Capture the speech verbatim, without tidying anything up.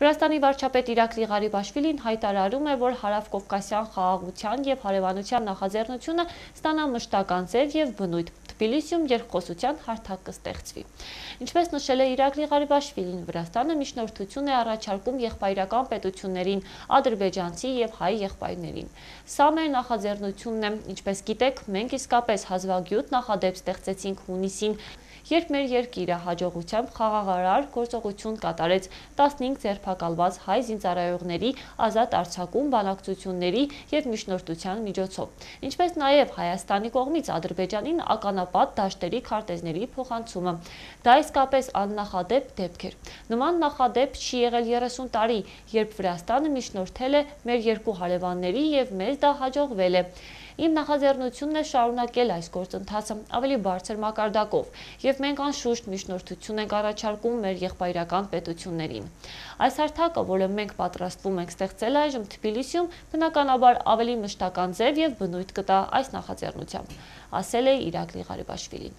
Վրաստանի վարչապետ Իրակլի Ղարիբաշվիլին հայտարարում է, որ հարավկովկասյան խաղաղության և հարևանության նախաձեռնությունը ստանա մշտական ձև և բնույթ։ Թբիլիսիում երկխոսության հարթակ կստեղծվի։ Ինչպես նշել է Իրակլի Ղարիբաշվիլին, Վրաստանը միջնորդություն է առաջարկում եղբայրական պետություններին, ադրբեջանցի և հայ եղբայրներին։ Սա մեր նախաձեռնությունն է։ Ինչպես գիտեք, մենք իսկապես հազվագյուտ նախադեպ ստեղծեցինք հունիսին, երբ մեր երկիրը հաջողությամբ խաղաղարար գործողություն կատարեց տասնհինգ ձերբակալված հայ զինծառայողների ազատ արձակում բանակցությունների և միջնորդության միջոցով, ինչպես նաև Հայաստանի կողմից Ադրբեջանին ականապատ դաշտերի քարտեզների փոխանցումը։ Դա իսկապես աննախադեպ դեպք էր։ Նման նախադեպ չի եղել երեսուն տարի, երբ Վրաստանը միջնորդել է մեր երկու հարևանների և մեզ դա հաջողվել է։ Իմ նախաձեռնությունն է շարունակել այս գործընթացը ավելի բարձր մակարդակով, և մենք անշուշտ միջնորդություն ենք առաջարկում մեր եղբայրական պետություններին։ Այս հարթակը, որը մենք պատրաստվում ենք ստեղծել այժմ Թբիլիսիում, բնականաբար ավելի մշտական ձև և բնույթ կտա այս նախաձեռնությամբ, ասել է Իրակլի Ղարիբաշվիլին։